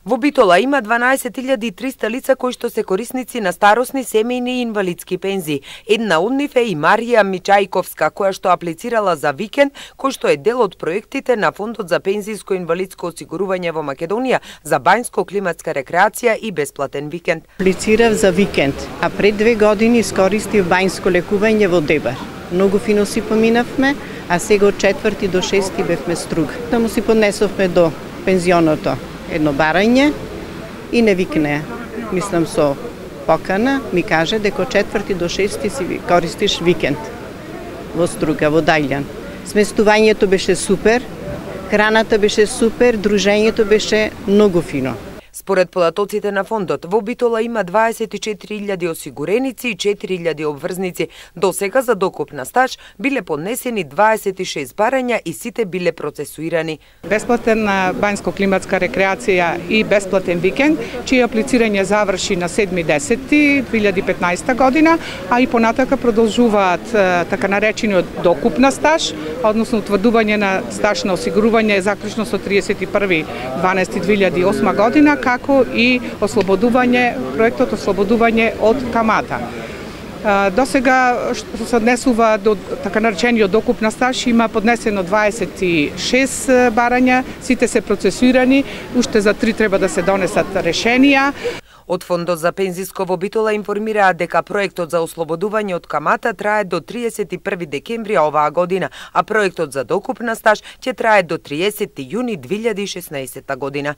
Во Битола има 12.300 лица кои што се корисници на старосни, семејни и инвалидски пензии. Една од нив е и Марија Мичајковска, која што аплицирала за викенд, кој што е дел од проектите на Фондот за пензиско и инвалидско осигурување во Македонија за банјско-климатска рекреација и бесплатен викенд. Аплицирав за викенд, а пред 2 години искористив банјско лекување во Дебар. Многу фино си поминавме, а сега од 4 до 6 бевме струг. Таму си поднесовме до пензионото едно барање и не викне, мислам со покана, ми каже дека од 4 до 6 си користиш викенд во Струга, во Дајлјан. Сместувањето беше супер, храната беше супер, дружењето беше многу фино. Според податоците на фондот, во Битола има 24.000 осигуреници и 4.000 обврзници. До сега за докуп на стаж биле поднесени 26 барања и сите биле процесуирани. Бесплатна банјско-климатска рекреација и бесплатен викенд, чие аплицирање заврши на 7.10.2015 година, а и понатака продолжуваат така наречениот докуп на стаж, односно утврдување на стаж на осигурување заклучно со 31.12.2008 година, како и проектот ослободување од камата. До сега што се однесува до така наречениот докуп на стаж има поднесено 26 барања, сите се процесуирани, уште за 3 треба да се донесат решенија. Од Фондот за пензиско во Битола информираат дека проектот за ослободување од камата трае до 31 декември оваа година, а проектот за докуп на стаж ќе трае до 30 јуни 2016 година.